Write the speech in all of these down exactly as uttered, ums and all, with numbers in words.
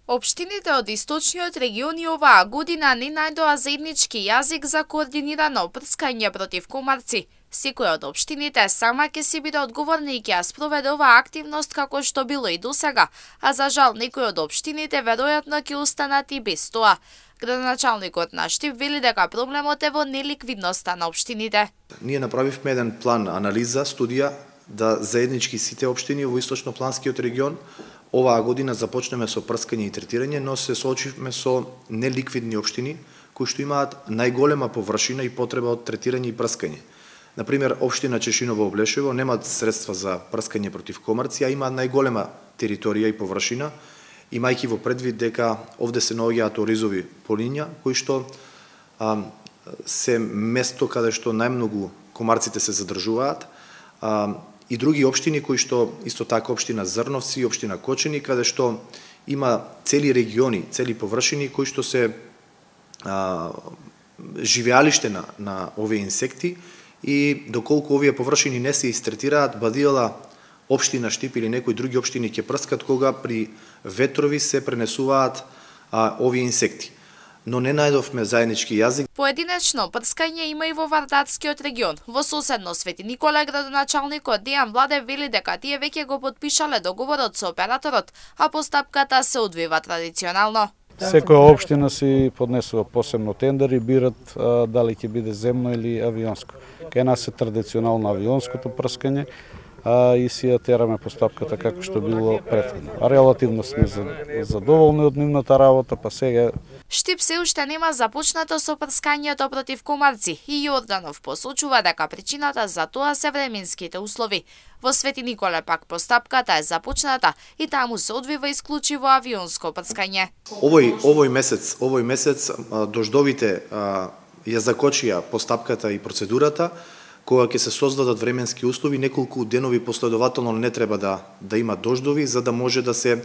Општините од источниот регион и оваа година не најдоа заеднички јазик за координирано прскање против комарци. Секоја од општините сама ќе си биде одговорна и ќе ја спроведе оваа активност како што било и досега, а за жал некои од општините веројатно ќе останат и без тоа. Градоначалникот на Штип вели дека проблемот е во неликвидноста на општините. Ние направивме еден план, анализа, студија да заеднички сите општини во источнопланскиот регион оваа година започнеме со прскање и третирање, но се соочивме со неликвидни општини кои што имаат најголема површина и потреба од третирање и прскање. Например, општина Чешиново Облешево немаат средства за прскање против комарци, а имаат најголема територија и површина, имајќи во предвид дека овде се наоѓаат оризови полиња, кои што а, се место каде што најмногу комарците се задржуваат, а, и други општини кои што исто така општина Зрновци и општина Кочени, каде што има цели региони, цели површини кои што се а, живеалиште на, на овие инсекти, и доколку овие површини не се истретираат, бадијала општина Штип или некои други општини ќе прскат кога при ветрови се пренесуваат а, овие инсекти. Но не најдовме заеднички јазик. Поединечно прскање има и во Вардатскиот регион. Во соседно Свети Никола градоначалникот Дејан Владев вели дека тие веќе го потпишале договорот со операторот, а постапката се одвива традиционално. Секоја општина си поднесува посебно тендер и бират а, дали ќе биде земно или авионско. Кај нас е традиционално авионското прскање, а и си ја тераме постапката како што било претходно. Релативно сме задоволни од нивната работа, па сега Штип се уште нема започнато со прскањето против комарци и Јорданов посочува дека причината за тоа се временските услови. Во Свети Николе пак постапката е започната и таму се одвива исклучиво авионско прскање. Овој овој месец, овој месец дождовите а, ја закочија постапката и процедурата, кога ќе се создадат временски услови, неколку денови последователно не треба да да има дождови за да може да се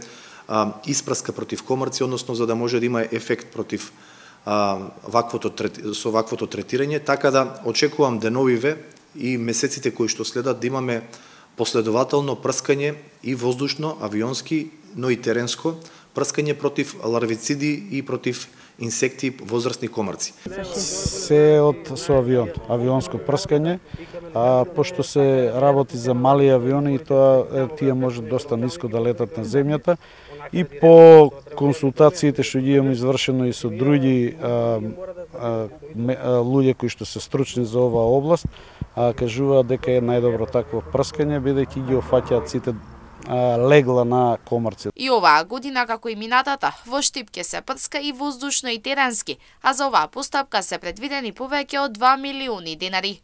а, испраска против комарци, односно за да може да има ефект против а, ваквото со ваквото третирање, така да очекувам деновиве и месеците кои што следат да имаме последователно прскање и воздушно, авионски, но и теренско прскање против ларвициди и против инсекти, возрастни комарци. Се од со авион, авионско прскање, а пошто се работи за мали авиони и тоа тие може доста ниско да летат на земјата, и по консултациите што ги имаме извршено и со други а, а, а, луѓе кои што се стручни за оваа област, а, кажуваат дека е најдобро такво прскање, бидејќи ги офаќаат сите легла на комарци. И оваа година, како и минатата, во Штип ќе се прска и воздушно и теренски, а за оваа постапка се предвидени повеќе од два милиони денари.